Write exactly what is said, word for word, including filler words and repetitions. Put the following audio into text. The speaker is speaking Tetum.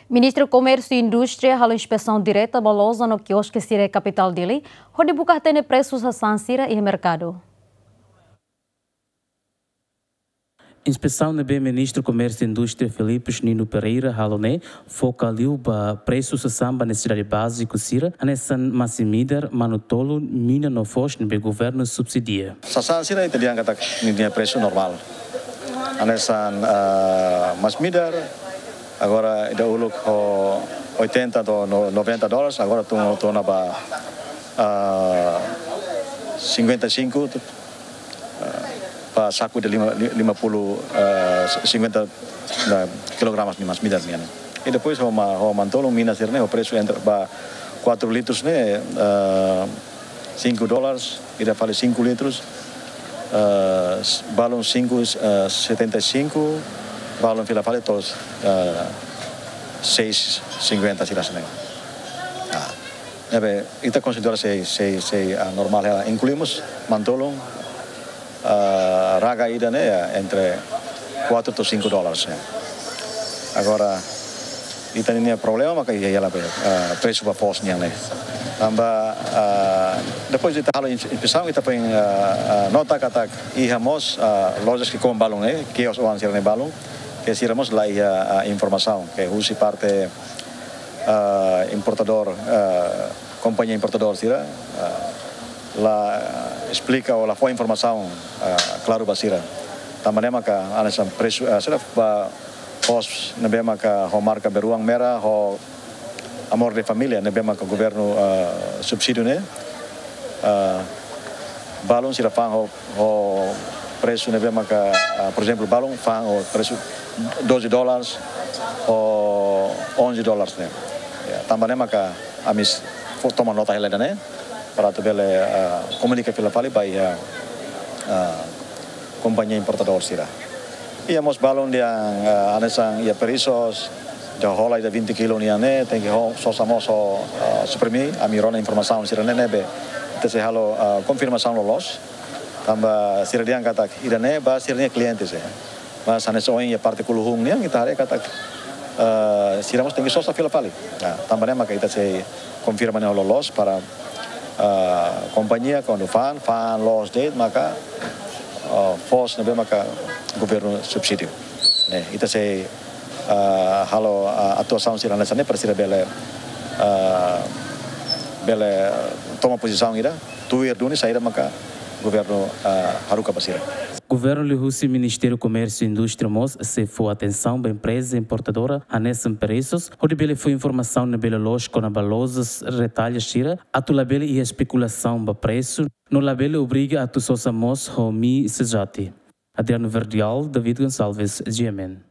Ministru Komérsiu Indústria halo inspesaun direta ba loja no kioske sira iha kapitál Dili, hodi buka hatene presu sasán sira iha merkadu. Inspesaun ne'ebé Ministru Komérsiu Indústria Filipe Nino Pereira halo ne'e foka liu ba presu sasán ba nesesidade báziku sira, hanesan masin-midar, manu-tolun, mina no foos ne'ebé governu subsidia. Sasán sira ita dehan katak ninia presu normál. Hanesan, ah, masin-midar, agora ida uluk ho oitenta to'o no-, noventa dólares, agora tun, tun ona ba, ah, cinquenta e cinco, ah, ba saku de lima, li-, lima puluh, ah, cinquenta, ah, kilogramas nia masin-midar nian. I depois ho ma-, ho manu-tolun, mina sira-ne'e, ho presu entre ba quatro litros ne'e, ah, cinco dólares, ida fali cinco litros, ah, s-, balun cinco, ah, setenta e cinco, balun fila fali to'o, ah, seis cinquenta sira-ne'e. Ah, ne'ebé, ita konsidera sei, sei, sei, ah, normál hela. Inkluímos manu-tolun, ah, raga ida ne'e, ah, entre quatro to'o cinco dólares, eh. Agora, ita-nia problema maka iha, iha la be, ah, presu ba foos nian ne'e. Tanba, ah, depois de ita halo ins-, inspesaun, ita foin, ah, ah, nota katak iha mós, ah, lojas ke koma balun ne'e, kios oan sira-ne'e balun, ke sira mós la iha, ah, informasaun, ke husi parte, ah, importadór, ah, kompañia importadór sira, ah, la esplika ou la fó informasaun, ah, klaru ba sira. Tanba ne'e maka hanesan presu, ah, sira ba foos ne'ebé maka ho marka beruang merah, ho Amor de Família, ne'ebé maka governu, ah, subsídiu ne'e, ah, balun sira fa'an ho, ho presu ne'ebé maka, ah, por ezemplu, balun fa'an ho presu doze dólares ou onze dólares ne'e. Ya, tanba ne'e maka ami s-, fó toma nota hela ida-ne'e, para atu bele, ah, komunika fila fali ba iha, ah, kompañia importadór sira. Iha mós balun dehan, ah, hanesan iha Perissos, ida hola ida vinte kilo nian ne'e, tenke ho, sosa mós ho, ah, Supermi, ami rona informasaun sira-ne'e ne'ebé ita sei halo, ah, konfirmasaun loloos. Tanba sira dehan katak ida-ne'e ba sira-nia kliente sira. Mas hanesan ohin iha parte Kuluhun nian, ita haree katak, eh, sira mós tenke sosa fila fali. Nah, tanba ne'e maka ita sei konfirma ne'e loloos para, eh, kompañia kuandu fa'an, fa'an loos de'it maka, eh, foos ne'ebé maka governu subsídiu. Ne'e, ita sei, eh, halo, eh, atuasaun sira hanesan ne'e para sira bele, eh, bele toma pozisaun ida, tuir duni saida maka governu, ah, haruka ba sira. Governu liuhusi Ministériu Komérsiu Indústria mós sei fó atensaun ba empreza importadora hanesan Perissos, hodi bele fó informasaun ne'ebé loloos kona-ba lojas retalho sira, atu labele iha espekulasaun ba presu, no labele obriga atu sosa mós ho mi sejati. Adriano Verdial, David Gonçalves, G M N.